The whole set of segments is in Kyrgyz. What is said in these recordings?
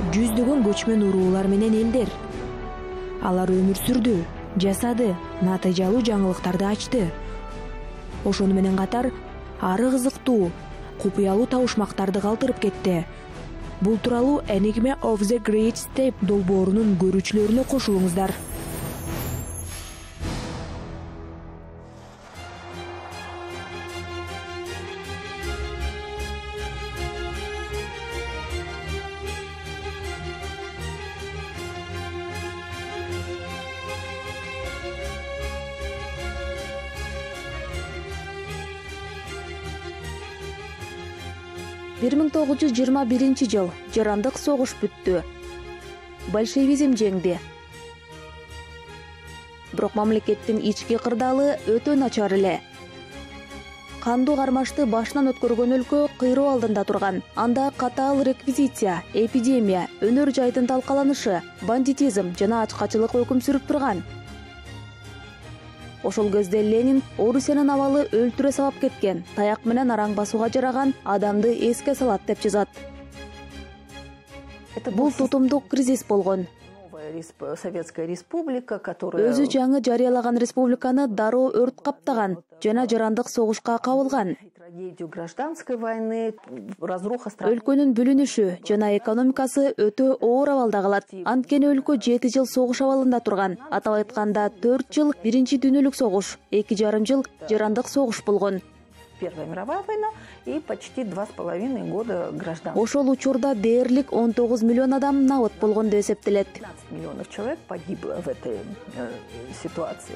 жүздөгөн көчмөн уруулар менен элдер. Алар өмүр сүрдү, жасады, натыйжалуу жаңылыктарды ачты. Ошону менен катар ары кызыктуу, купуялуу табышмактарды калтырып кетти. Бул тууралуу Enigma of the Great Steppe долбоорунун көрүүчүлөрүнө кошулуңуздар. Бир 1921 жыл жарандык согуш бүттү. Большевизм жеңди. Бирок мамлекеттин ички кырдаалы өтө начар эле. Кандуу кармашты башынан өткөргөн өлкө кыйроо алдында турган. Анда катаал реквизиция, эпидемия, өнөр жайдын талкаланышы, бандитизм жана ачкачылык өкүм сүрүп турган. Ошол кезде Ленин Орусиянын абалы өлтүрө сабап кеткен, таяк менен араң басууга жараган адамды эске салат деп жазат. Бул тутумдук кризис болгон. Өзү жаңы жарыялаган республиканы дароо өрт каптаган жана жарандык согушка кабылган. Өлкөнүн бүлүнүшү жана экономикасы өтө оор абалда калат. Анткени өлкө 7 жыл согуш абалында турган. Атап айтканда 4 жыл Биринчи дүйнөлүк согуш, 2,5 жыл жарандык согуш болгон. Первая мировая война и почти 2,5 года гражданская. Ошол учурда дээрлик 19 миллион адам набыт болгон деп эсептелет. 15 миллионов человек погибло в этой ситуации.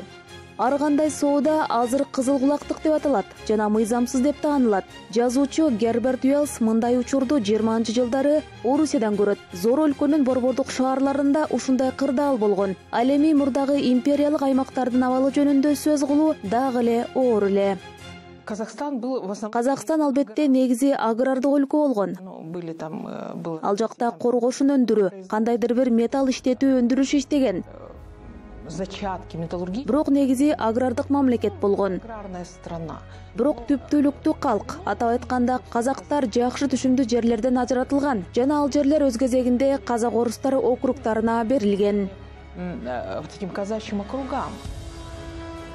Ар кандай соода азыр кызыл кулактык деп аталат жана мыйзамсыз деп таанылат. Жазуучу Герберт Уэллс мындай учурду 20-жылдары Орусиядан көрөт. Зор өлкөнүн борбордук шаарларында ушундай кырдаал болгон. Ал эми мурдагы империялык аймактардын абалы жөнүндө сөз кылуу дагы эле оор эле. Казакстан албетте негизи агрардык өлкө болгон. Ал жакта коргошун өндүрүү, кандайдыр бир металл иштетүү өндүрүш иштеген. Бирок негизи агрардык мамлекет болгон. Бирок түптүүлүктүү калк, атап айтканда казактар жакшы түшүмдүү жерлерден ажыратылган жана ал жерлер өз кезегинде казак-орустар округтарына берилген.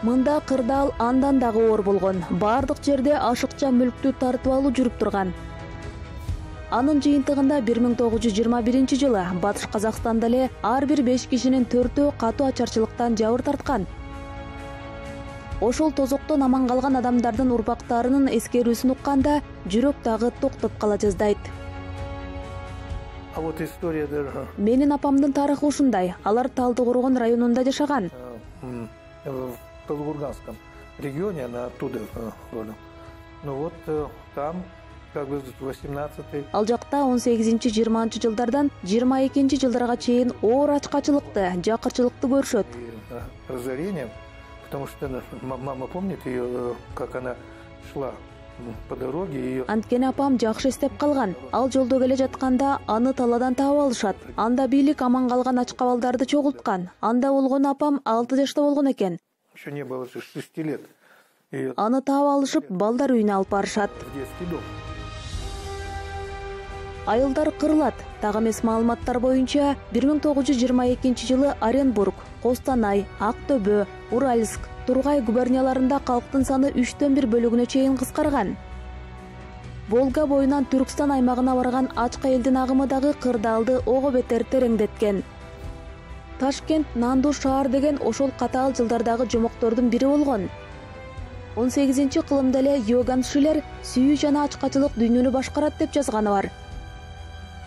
Мында кырдаал андан дагы оор болгон. Бардык жерде ашыкча мүлктү тартып алуу жүрүп турган. Анын жыйынтыгында 1921 жылы Батыш Казакстанда эле ар бир 5 кишинин 4-өө катуу ачарчылыктан жабыр тарткан. Ошол тозоктон аман калган адамдардын урпактарынын эскерүүсүн укканда жүрөк дагы токтоп кала жаздайт. Менин апамдын тарыхы ушундай. Алар Талдыкоргон районунда жашаган. В Калугурганском регионе, она оттуда родом. Ну вот там как бы 18-й. Ал жакта 18-20 жылдардан 22 жылдарга чейин оор ачкачылыкты, жакырчылыкты көрүшөт. Разорение, потому что мама помнит ее, как она шла по дороге. Анткени апам жакшы эстеп калган. Ал жолдо келе жатканда аны таладан таап алышат. Анда бийлик аман калган ачкабалдарды чогулткан. Анда болгон апам 6 жашта болгон экен. Еще не было 6 лет. Аны таап алышып, балдар үйүнө алып барышат. Айылдар кырылат. Дагы эмес маалыматтар боюнча 1922 жылы Оренбург, Костанай, Актөбө, Уральск, Тургай губернияларында калктын саны 3/1 бөлүгүнө чейин кыскарган. Волга боюнан Түркстан аймагына барган ачка элдин агымы дагы кырдаалды ого бетер тереңдеткен. Ташкент, Нанду шаар деген ошол катаал жылдардагы жомоктордун бири болгон. 18-кылымда эле Йоган Шиллер сүйүү жана ачкачылык дүйнөнү башкарат деп жазганы бар.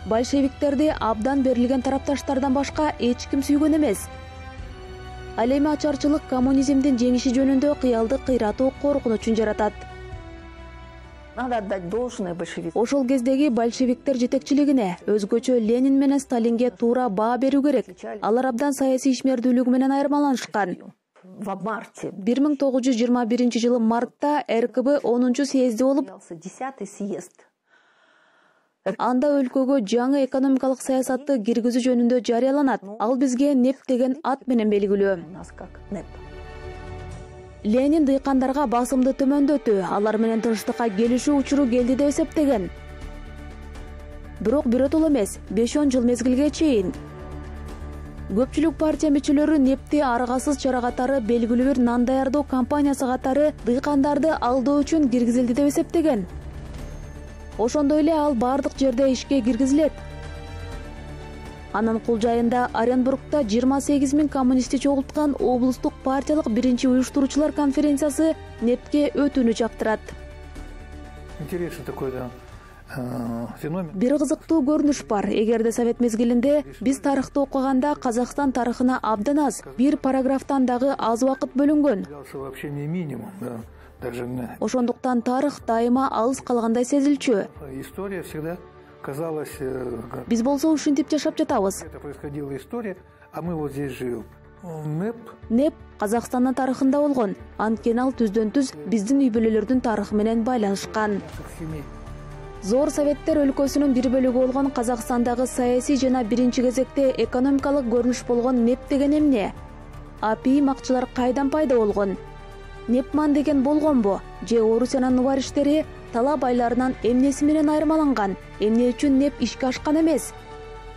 Большевиктерди абдан берилген тарапташтардан башка эч ким сүйгөн эмес. Ал эми ачарчылык коммунизмдин жеңиши жөнүндө кыялдык кыйратуу коркунучун жаратат. Надо отдать должное большевикам. Ошол кездеги большевиктер жетекчилигине, өзгөчө Ленин менен Сталинге туура баа берүү керек. Алар абдан саясий ишмердүүлүгү менен айырмаланышкан. 1921 жылы мартта РКБ 10-съезди болуп, 10-й съезд. Анда өлкөгө жаңы экономикалык саясатты киргизүү жөнүндө жарыяланат. Ал бизге НЭП деген ат менен белгилүү. Ленин дыйкандарга басымды төмөндөтүү, алар менен тынчтыкка келишүү учуру келди деп эсептеген. бирок биротоло эмес, 5-10 жыл мезгилге чейин. Көпчүлүк партия мүчөлөрү нефти аргасыз чара катары белгилүү бир нан даярдоо компаниясы катары дыйкандарды алдоо үчүн киргизилди деп эсептеген. Ошондой эле ал бардык жерде ишке киргизилет. Анын кул жайында Оренбургда 28 000 коммунистти чогулткан облустук партиялык биринчи уюштуруучулар конференциясы нефтке өтүүнү чактырат. Интересный такой, да, феномен. Бир кызыктуу көрүнүш бар. Эгерде совет мезгилинде биз тарыхты окуганда Казакстан тарыхына абдан аз, бир параграфтан дагы аз убакыт бөлүнгөн. Вообще не минимум, да. Ошондуктан тарых дайыма алыс калгандай сезилчү. История всегда казалась. Биз болсо ушинтип жашап жатабыз. Это происходила история, а мы вот здесь живем. НЭП Казакстандын тарыхында болгон. Анткени ал түздөн-түз биздин үй бүлөлөрдүн тарыхы менен байланышкан. Зор Советтер өлкөсүнүн бир бөлүгү болгон Казакстандагы саясий жана биринчи кезекте экономикалык көрүнүш болгон НЭП деген эмне? АПИ акчылар кайдан пайда болгон? Непман деген болгонбу? Же Орусиянын вариштери талап айларынан эмнеси менен айырмаланган? Эмне үчүн НЭП ишке ашкан эмес?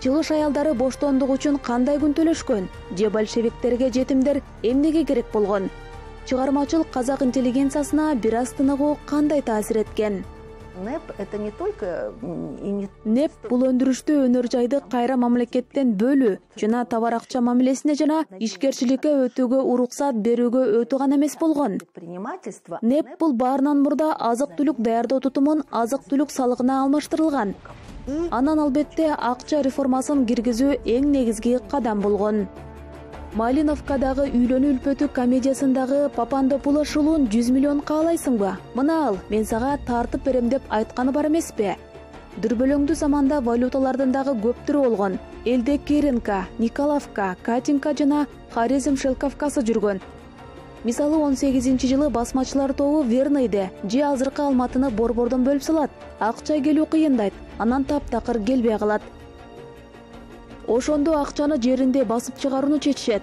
Чыгыш аялдары боштондук үчүн кандай күн төлөшкөн? Же большевиктерге жетимдер эмнеге керек болгон? Чыгармачыл казак интеллигенциясына бир аз тыныгуу кандай таасир эткен? НЭП это не только НЭП бул өндүрүштүү өнөр жайды кайра мамлекеттен бөлүү жана товар акча мамилесине жана ишкерчиликке өтүүгө уруксат берүүгө өтүү гана эмес болгон. НЭП бул баарынан мурда азык-түлүк даярдоо тутумун азык-түлүк салыгына алмаштырылган. Анан албетте акча реформасын киргизүү эң негизги кадам болгон. Малиновкадагы үйлөнүү үлпөтү комедиясындагы Папандопулос ушулун 100 миллион каалайсыңбы? Мына ал, мен сага тартып берем деп айтканы бар эмеспи? Дүрбөлөңдүү заманда валюталардын дагы көп түрү болгон. Элде Керенка, Николовка, Катинка жана Хорезм Шелковкасы жүргөн. Мисалы 18-жылы басмачылар тобу Верныйды же азыркы Алматыны борбордон бөлүп салат. Акча келүү кыйындайт, анан таптакыр келбей калат. Ошондо акчаны жеринде басып чыгарууну чечишет.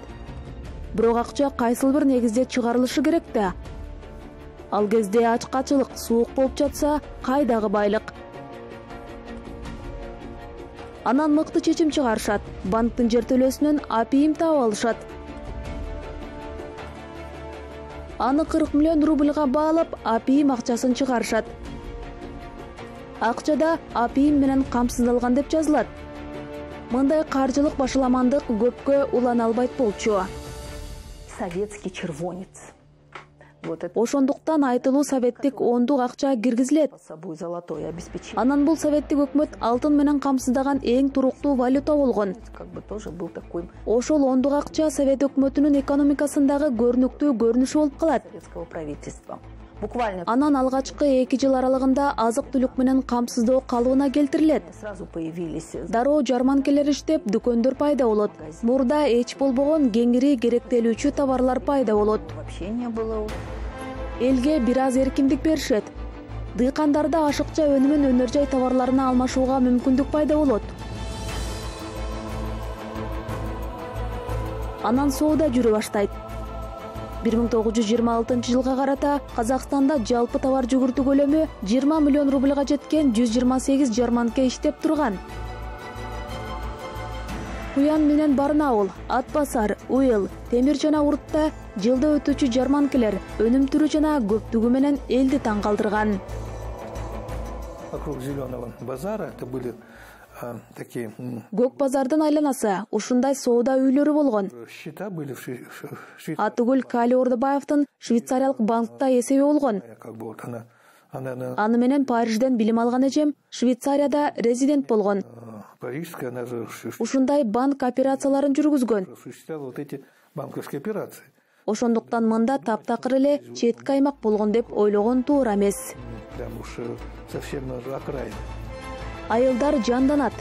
Бирок акча кайсыл бир негизде чыгарылышы керек да. Ал кезде ачкачылык, суук болуп жатса, кайдагы байлык? Анан мыкты чечим чыгарышат. Банктын жер төлөөсүнөн АПИ таап алышат. Аны 40 миллион рубльга баалап, АПИ акчасын чыгарышат. Акчада АПИ менен камсыздалган деп жазылат. Мындай каржылык башаламандык көпкө улана албайт болчу. Советский червонец. Ошондуктан айтылуу советтик ондук акча киргизилет. Анан бул советтик өкмөт алтын менен камсыздаган эң туруктуу валюта болгон. Ошол ондук акча совет өкмөтүнүн экономикасындагы көрүнүктүү көрүнүшү болуп калат. Анан алгачкы 2 жыл аралыгында азык-түлүк менен камсыздоо калыбына келтирилет. Дароо жарманкелер иштеп, дүкөндөр пайда болот. Мурда эч болбогон кеңири керектелүүчү товарлар пайда болот. Элге бир аз эркиндик беришет. Дыйкандарда ашыкча өнүмүн өнөр жай товарларына алмашууга мүмкүндүк пайда болот. Анан соода жүрө баштайт. 1926 жылга карата Казакстанда жалпы товар жүгүртүү көлөмү 20 миллион рубльга жеткен 128 жарманке иштеп турган. Куян менен Барнаул, Атбасар, Уйл, Темир жана Уртта жылда өтүүчү жарманкелер өнүм түрү жана көптүгү менен элди таң калтырган. Вокруг Зеленого базара это были такие. Көк базардын айланасы ушундай соода үйлөрү болгон. Счета были в Атыгүл Кали Ордобаевдин Швейцариялык банкта эсеби болгон. Аны менен Парижден билим алган эжем Швейцарияда резидент болгон. Ушундай банк операцияларын жүргүзгөн. Ошондуктан мында таптакыр эле четки аймак болгон деп ойлогон туура эмес. Айылдар жанданат.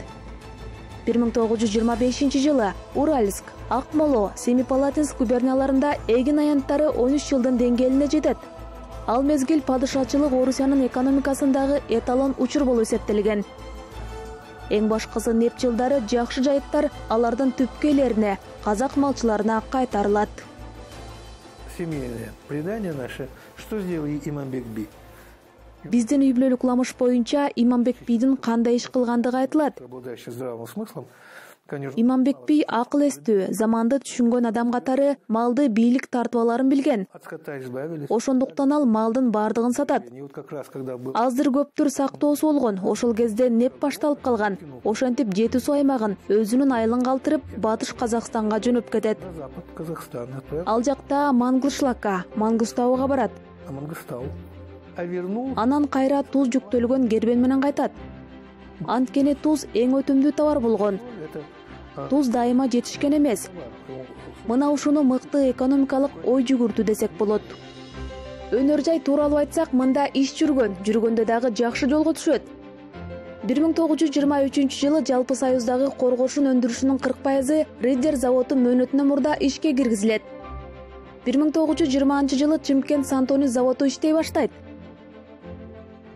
1925-жылы Уральск, Акмоло, Семипалатинск губернияларында эгин аянттары 13 жылдын деңгээлине жетет. Ал мезгил падышачылык Орусиянын экономикасындагы эталон учур болуп эсептелген. Эң башкысы НЭП жылдары жакшы жайыттар алардын түпкөйлерине, казак малчыларына Биздин үй бүлөлүк уламыш боюнча Иманбек бийдин кандай иш кылгандыгы айтылат. Обладающий здравым смыслом, конечно. Иманбек бий акыл эстүү, заманды түшүнгөн адам катары малды бийлик тартып аларын билген. От скота избавились. Ошондуктан ал малдын баардыгын сатат. И вот как раз, когда был Аздыр көптүр сактоосу болгон. Ошол кезде НЭП башталып калган. Ошентип Жети Суу аймагын өзүнүн айылын калтырып, Батыш Казакстанга жөнөп кетет. на запад Казахстана, отправил Ал жакта Мангышлакка, Мангыстауга барат. Мангыстау. А вернул Анан кайра туз жүктөлгөн кербен менен кайтат. Анткени туз эң өтүмдүү товар болгон. это Туз дайыма жетишкен эмес. Мына ушуну мыкты экономикалык ой жүгүртүү десек болот. Өнөр жай тууралуу айтсак, мында иш жүргөндө дагы жакшы жолго түшөт. 1923 жылы жалпы союздагы коргошун өндүрүшүнүн 40% Риддер заводу мөөнөтүнөн мурда ишке киргизилет. 1920 жылы Чымкент Сантони заводу иштей баштайт.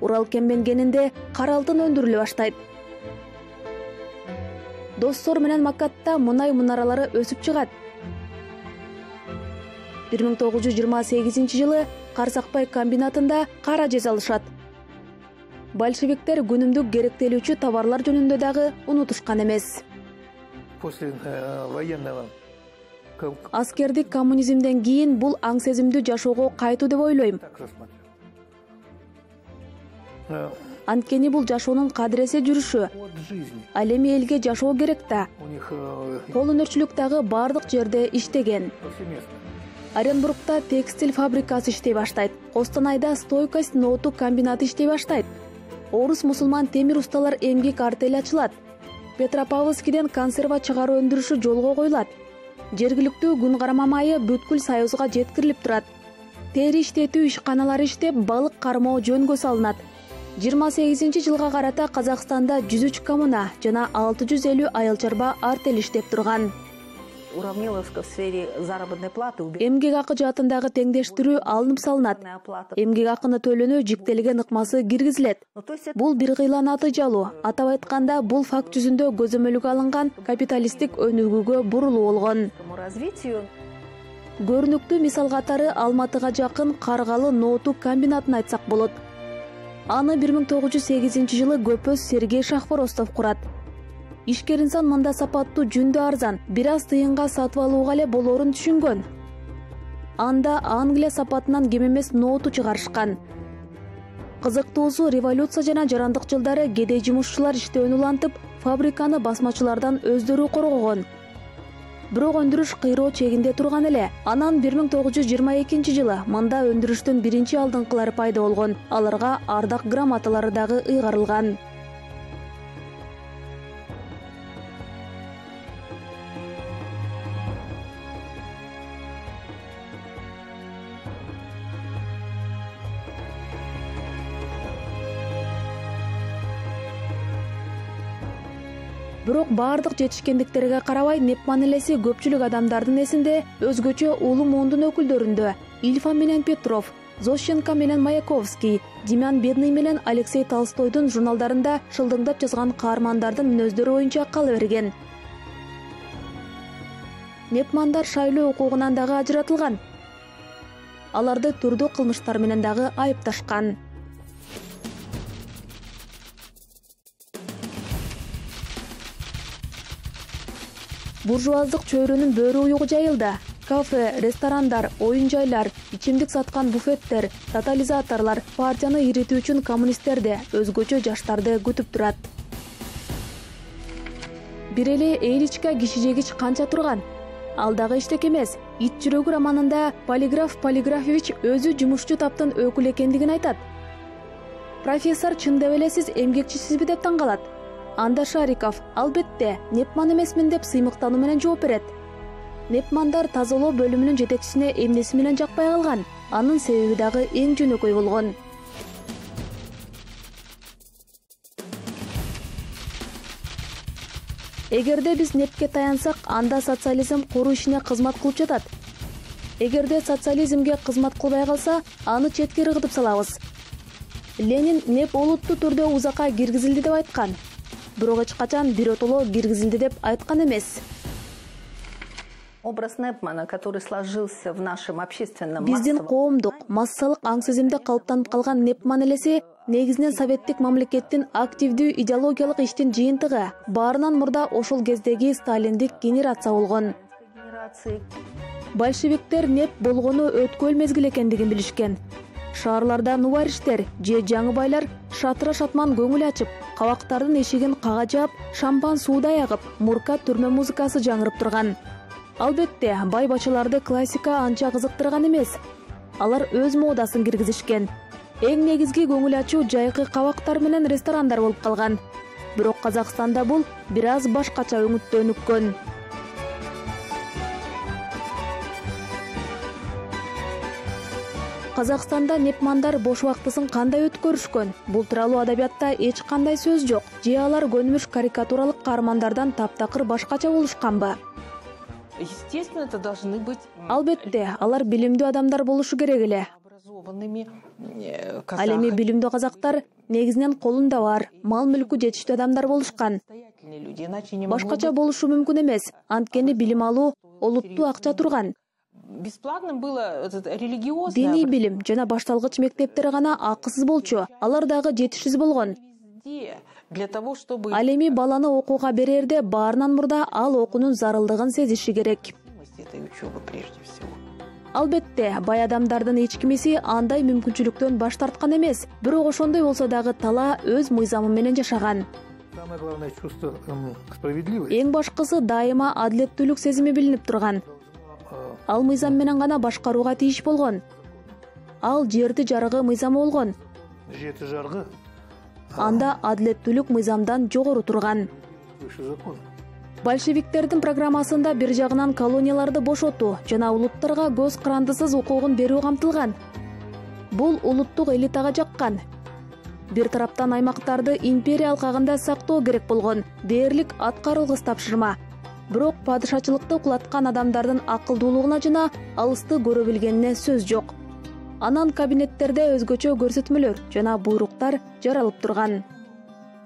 Урал кембен кенинде кара алтын өндүрүлө баштайт. Доссор менен Макатта мунай мунаралары өсүп чыгат. 1928 жылы Карсакбай комбинатында кара жасалышат. Большевиктер күнүмдүк керектелүүчү товарлар жөнүндө дагы унутушкан эмес. после военного Аскердик коммунизмден кийин бул аң сезимдүү жашоого кайтуу деп ойлойм. так рассматривал. Анткени бул жашоонун кадыресе жүрүшү. От жизни. Ал эми элге жашоо керек да. У них Кол өнөрчүлүк дагы бардык жерде иштеген. повсеместно. Оренбургда текстиль фабрикасы иштей баштайт. Костанайда стойкость ноуту комбинаты иштей баштайт. Орус мусулман темир усталар эмгек артели ачылат. Петропавловскиден консерва чыгаруу өндүрүшү жолго коюлат. Жергиликтүү күн карама майы бүткүл Союзга жеткирилип турат. Тери иштетүү ишканалары иштеп, балык кармоо жөнгө салынат. 28 жылга карата Казакстанда 103 коммуна жана 650 айыл чарба артель иштеп турган. Уравниловск в сфере заработной платы. Эмгек акы жаатындагы теңдештирүү алынып салынат. Эмгек акыны төлөнүү жиктелген ыкмасы киргизилет. Бул бир кыйла натыйжалуу. Атап айтканда, бул факт жүзүндө көзөмөлгө алынган капиталисттик өнүгүүгө бурулуу болгон. Развитию Көрүнүктүү мисал катары Алматыга жакын Каргалы ноуту комбинатын айтсак болот. Аны 1908 жылы көпөз Сергей Шахворостов курат. Ишкер инсан мында сапаттуу жүндө арзан, бир аз тыйынга сатып алууга эле болоорун түшүнгөн. Анда Англия сапатынан кем эмес ноуту чыгарышкан. Кызыктуусу, революция жана жарандык жылдары кедей жумушчулар иштөөнү улантып, фабриканы басмачылардан өздөрү коргогон. Бирок өндүрүш кыйроо чегинде турган эле. Анан 1922 жылы мында өндүрүштүн биринчи алдыңкылары пайда болгон. Аларга ардак грамоталары дагы ыйгарылган. Бирок бардык жетишкендиктерге карабай, НЭП мамилеси көпчүлүк адамдардын эсинде, өзгөчө улуу муундун өкүлдөрүндө Ильфа менен Петров, Зощенко менен Маяковский, Демян Бедный менен Алексей Толстойдун журналдарында шылдыңдап жазган каармандардын мүнөздөрү боюнча кала берген. НЭПмандар шайлоо укугунан дагы ажыратылган. Аларды түрдүү кылмыштар менен дагы айыпташкан. Буржуаздык чөйрөнүн бөөрү уюгу жайылды. Кафе, ресторандар, оюн жайлар, ичимдик саткан буфеттер, тотализаторлор партияны иритүү үчүн коммунисттерди, өзгөчө жаштарды күтүп турат. Бир эле Эйличка киши жегич канча турган? Ал дагы эчтек эмес. Ит жүрөгү романында полиграф Полиграфович өзү жумушчу таптын өкүлү экендигин айтат. Профессор чындап эле сиз эмгекчисизби деп таң калат. Анда Шариков, албетте, НЭПман эмесмин деп сыймыктануу менен жооп берет. НЭПмандар тазалоо бөлүмүнүн жетекчисине эмнеси менен жакпай калган? Анын себеби дагы эң жөнөкөй болгон. Эгерде биз НЭПке таянсак, анда социализм куруу ишине кызмат кылып жатат. Эгерде социализмге кызмат кылбай калса, аны четке ыргытып салабыз. Ленин НЭП олуттуу түрдө узакка киргизилди деп айткан. Бирок эч качан биротоло киргизилди деп айткан эмес. Образ НЭПмана, который сложился в нашем общественном Биздин коомдук массалык аң сезимде калыптанып калган НЭП мамилеси негизинен советтик мамлекеттин активдүү идеологиялык иштин жыйынтыгы. Баарынан мурда ошол кездеги сталиндик генерация болгон. Большевиктер неп болгону өткөл мезгил экендигин билишкен. Шаарларда нубариштер же жаңы байлар шатыра шатман көңүл ачып, кабактардын эшигин кага жаап, шампан суудай агып, мурка түрмө музыкасы жаңырып турган. Албетте, бай бачыларды классика анча кызыктырган эмес. Алар өз модасын киргизишкен. Эң негизги көңүл ачуу жайкы кабактар менен ресторандар болуп калган. Бирок Казакстанда бул бир аз башкача өңүттөнүккөн. Казакстанда непмандар бош убактысын кандай өткөрүшкөн? Бул тууралуу адабиятта эч кандай сөз жок. Же алар көнүмүш карикатуралык каармандардан таптакыр башкача болушканбы? Естественно, это должны быть... Албетте, алар билимдүү адамдар болушу керек эле. Ал эми билимдүү казактар негизинен колунда бар, мал-мүлкү жетиштүү адамдар болушкан. Башкача болушу мүмкүн эмес. Анткени билим алуу олуттуу акча турган. Бесплатно было религиозное... Диний билим жана башталгыч мектептер гана акысыз болчу. Алар дагы жетишсиз болгон. Для того, чтобы... Ал эми баланы окууга берерде баарынан мурда ал окуунун зарылдыгын сезиши керек. этой учебы прежде всего. Албетте, бай адамдардын эч кимиси андай мүмкүнчүлүктөн баш тарткан эмес. Бирок ошондой болсо дагы тала өз мыйзамы менен жашаган. Самое главное чувство справедливости. Эң башкысы дайыма адилеттүүлүк сезими билинип турган. Ал мыйзам менен гана башкарууга тийиш болгон. Ал жерди жарыгы мыйзамы болгон. Жети жаргы. Анда адилеттүүлүк мыйзамдан жогору турган. Выше закон. Большевиктердин программасында бир жагынан колонияларды бошотуу жана улуттарга көз карандысыз укугун берүү камтылган. Бул улуттук элитага жаккан. Бир тараптан аймактарды империя алкагында сактоо керек болгон дээрлик аткарылгыс тапшырма. Бирок падышачылыкты кулаткан адамдардын акылдуулугуна жана алысты көрө билгенине сөз жок. Анан кабинеттерде өзгөчө көрсөтмөлөр жана буйруктар жаралып турган.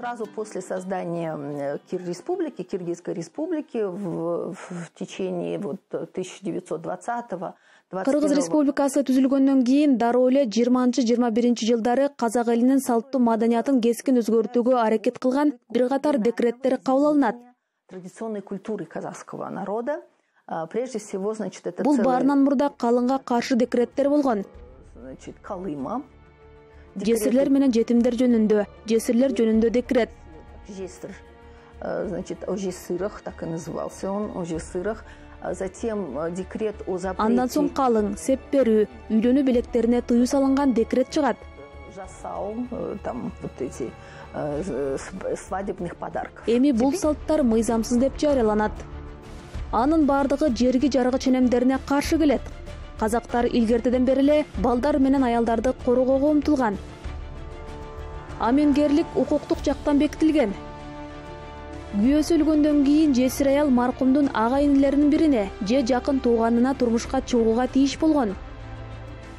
Сразу после создания Киргизской республики в течение 1920-го Кыргыз республикасы түзүлгөндөн кийин дароо эле 20-21 жылдары казак элинин салттуу маданиятын кескин өзгөртүүгө аракет кылган бир катар декреттер кабыл алынат. Традиционной культуры казахского народа, прежде всего, значит, это бул баарынан мурда калыңга каршы декреттер болгон. Значит, Калыма. Жесирлер менен жетимдер жөнүндө декрет. Жесир, значит, о жесырах, так и назывался он, о жесырах. Затем декрет о запрете. Андан соң калың, сеп берүү, үйлөнүү белектерине тыюу салынган декрет чыгат. Жасау, там вот эти свадебных подарков. Эми бул салттар мыйзамсыз деп жарыяланат. Анын бардыгы жерги жарыгы ченемдерине каршы келет. Казактар илгертеден бери эле балдар менен аялдарды коргоого умтулган. Амингерлик укуктук жактан бекитилген. Күйөөсү өлгөндөн кийин жесир аял маркумдун ага-инилеринин бирине же жакын тууганына турмушка чыгууга тийиш болгон.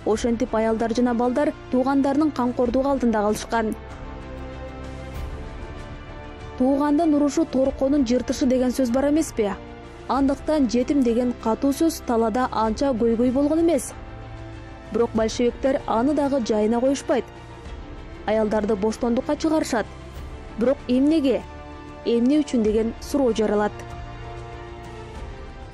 Ошентип аялдар жана балдар туугандарынын камкордугу алдында калышкан. Туугандын урушу торконун жыртышы деген сөз бар эмеспи? Андыктан жетим деген катуу сөз талада анча көйгөй болгон эмес. Бирок большевиктер аны дагы жайына коюшпайт. Аялдарды боштондукка чыгарышат. Бирок эмнеге? Эмне үчүн деген суроо жаралат.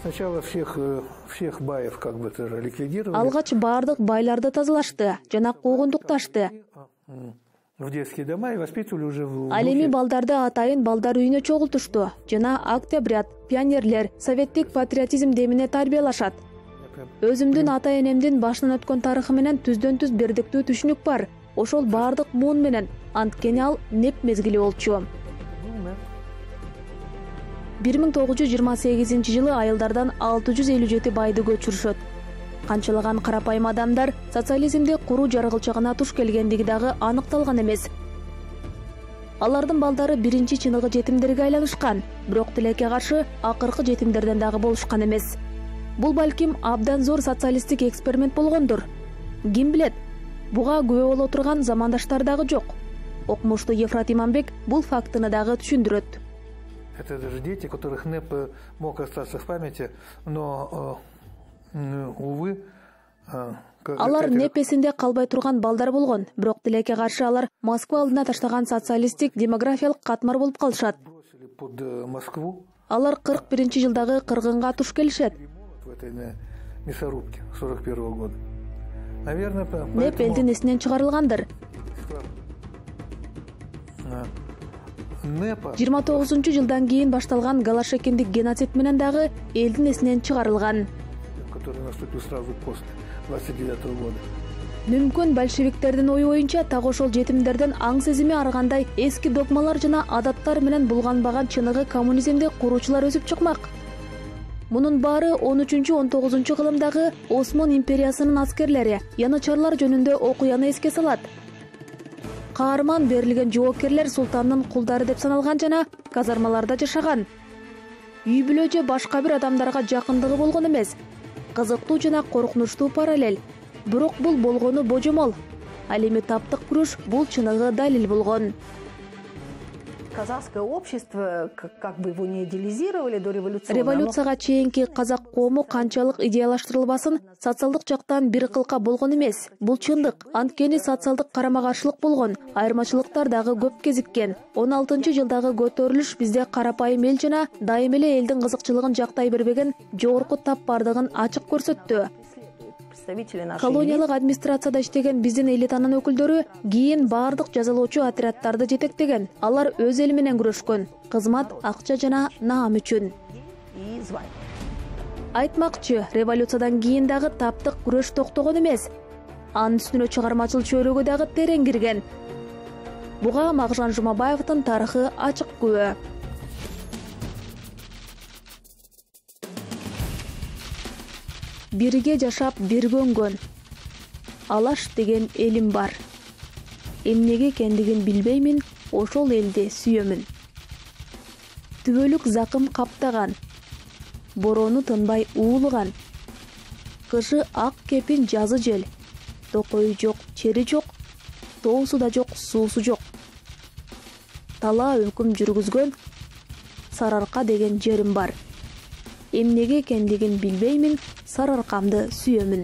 Сначала всех баев как бы ликвидировали. Алгач бардык байларды тазалашты жана куугунтукташты. В детские дома и воспитывали уже в... Ал эми балдарды атайын балдар үйүнө чогултушту жана октябрят, пионерлер, советтик патриотизм демине тарбиялашат. Өзүмдүн ата-энемдин башынан өткөн тарыхы менен түздөн түз бирдиктүү түшүнүк бар. Ошол бардык муун менен, анткени ал неп мезгили болчу. 1928 жылы айылдардан 657 байды көчүрүшөт. Канчалаган карапайым адамдар социализмди куруу жаргылчагына туш келгендиги дагы аныкталган эмес. Алардын балдары биринчи чыныгы жетимдерге айланышкан, бирок тилекке каршы акыркы жетимдерден дагы болушкан эмес. Бул балким абдан зор социалисттик эксперимент болгондур. Ким билет? Буга күбө боло турган замандаштар дагы жок. Окумуштуу Ефрат Иманбек бул фактыны дагы түшүндүрөт. Это даже дети, которых НЭП мог остаться в памяти, но, увы, Алар неп эсинде калбай турган балдар болгон, бирок тилекке каршы алар Москва алдына таштаган социалисттик демографиялык катмар болуп калышат. Под Москву. Алар 41-жылдагы кыргынга туш келишет. В этой мясорубке 41-го года. Наверное, Неп элдин эсинен чыгарылгандыр. 29-жылдан кийин башталган Голошекиндик геноцид менен дагы элдин эсинен чыгарылган. Который наступил сразу после 29-го года. Мүмкүн большевиктердин ою боюнча так ошол жетимдерден аң сезими арыгандай эски догмалар жана адаттар менен булганбаган чыныгы коммунизмди куруучулар өсүп чыкмак. Мунун баары 13-19 кылымдагы Осман империясынын аскерлери янычарлар жөнүндө окуяны эске салат. Каарман берилген жоокерлер султандын кулдары деп саналган жана казармаларда жашаган. Үй бүлө же башка бир адамдарга жакындыгы болгон эмес. Кызыктуу жана коркунучтуу параллель. Бирок бул болгону божомол. Ал эми таптык күрөш бул чыныгы далил болгон. Казахское общество, как бы его не идеализировали до революции. Революцияга чейинки казак коому канчалык идеалаштырылбасын, социалдык жактан бир кылка болгон эмес. Бул чындык. Анткени социалдык карама-каршылык болгон, айырмачылыктар дагы көп кезиккен. 16-жылдагы көтөрүлүш бизде карапайым эл жана дайым эле элдин кызыкчылыгын жактай бербеген жогорку тап бардыгын ачык көрсөттү. Колониялык администрацияда иштеген биздин элитанын өкүлдөрү кийин бардык жазалоочу отряддарды жетектеген. Алар өз эли менен күрөшкөн. Кызмат, акча жана наам үчүн. Айтмакчы, революциядан кийин дагы таптык күрөш токтогон эмес. Анын үстүнө чыгармачыл чөйрөгө дагы терең кирген. Буга Мағжан Жұмабаевдин тарыхы ачык күбө. Бирге жашап бирге өнгөн. Алаш деген элим бар. Эмнеге экендигин билбеймин, ошол элди сүйөмүн. Түбөлүк закым каптаган. Борону тынбай уулуган. Кышы ак кепин, жазы жел. Токою жок, чери жок. Тоосу да жок, суусу жок. Талаа өкүм жүргүзгөн Сарыарка деген жерим бар. Эмнеге экендигин билбеймин, Сарыаркамды сүйөмүн.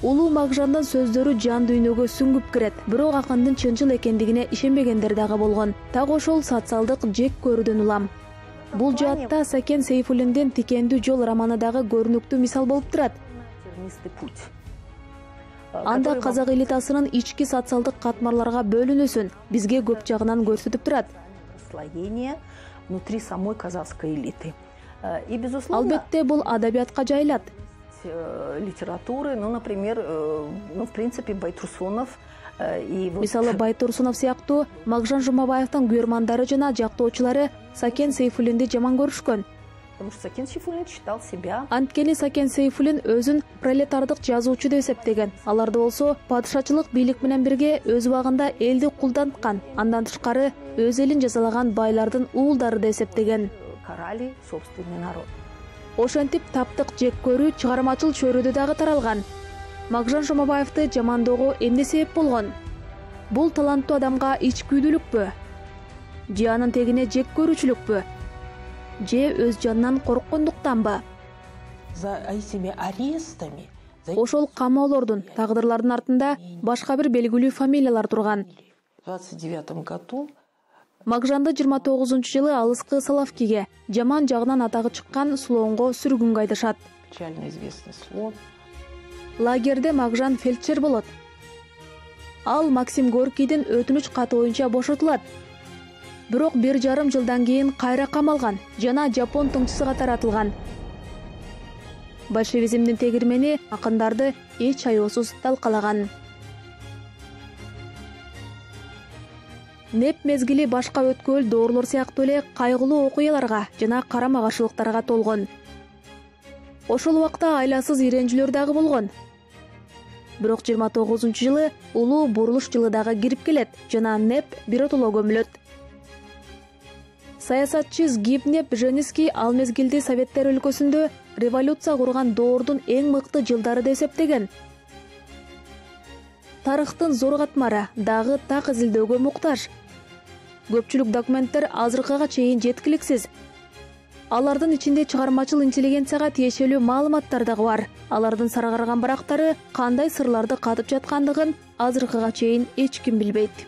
Улуу Мағжандын сөздөрү жан дүйнөгө сүңгүп кирет, бирок акындын чынчыл экендигине ишенбегендер дагы болгон. Так ошол социалдык жек көрүүдөн улам. Бул жаатта Сакен Сейфуллиндин Тикендүү жол романы дагы көрүнүктүү мисал болуп турат. Анда казак элитасынын ички социалдык катмарларга бөлүнүүсүн бизге көп жагынан көрсөтүп турат. Внутри самой казахской элиты. И, безусловно, албетте бул адабиятка жайылат. Литературы, например, в принципе, Байтурсунов и... Мисалы Байтурсунов сыяктуу Мағжан Жұмабаевдин күйөрмандары жана жактоочулары Сакен Сейфуллинди жаман көрүшкөн. Потому что Сакен Сейфуллин считал себя... Анткени Сакен Сейфуллин өзүн пролетардык жазуучу деп эсептеген. Аларды болсо падышачылык бийлик менен бирге өз убагында элди кулданткан. Андан тышкары өз элин жазалаган байлардын уулдары деп эсептеген. Карали собственный народ. Ошентип таптык жек көрүү чыгармачыл чөйрөдө дагы таралган. Мағжан Жұмабаевди жамандоого эмне себеп болгон? Бул таланттуу адамга ичкүйдүүлүкпү? Же анын тегине жек көрүүчүлүкпү? Же өз жанынан корккондуктанбы? За этими арестами... Ошол камоолордун, тагдырлардын артында башка бир белгилүү фамилиялар турган. В 29 году Мағжанды 29-жылы алыскы Салавкиге, жаман жагынан атагы чыккан Слоонго сүргүнгө айдашат. печально известный Слоон. Лагерде Мағжан фельдшер болот. Ал Максим Горкийдин өтүнүч каты боюнча бошотулат. Бирок 1,5 жылдан кийин кайра камалган жана жапон тыңчысы катары атылган. Большевизмдин тегирмени акындарды эч аеосуз талкалаган. Неп мезгили башка өткөл доорлор сыяктуу эле кайгылуу окуяларга жана карама-каршылыктарга толгон. Ошол убакта айласыз иренжүлөр дагы болгон. Бирок 29-жылы улуу бурулуш жылы дагы кирип келет жана Неп биротоло көмүлөт. Саясатчы Згибнеп Бженский ал мезгилди Советтер өлкөсүндө революция курган доордун эң мыкты жылдары деп эсептеген. Тарыхтын зор катмары дагы так изилдөөгө муктаж. Көпчүлүк документтер азыркыга чейин жеткиликсиз. Алардын ичинде чыгармачыл интеллигенцияга тиешелүү маалыматтар дагы бар. Алардын сара караган барактары кандай сырларды катып жаткандыгын азыркыга чейин эч ким билбейт.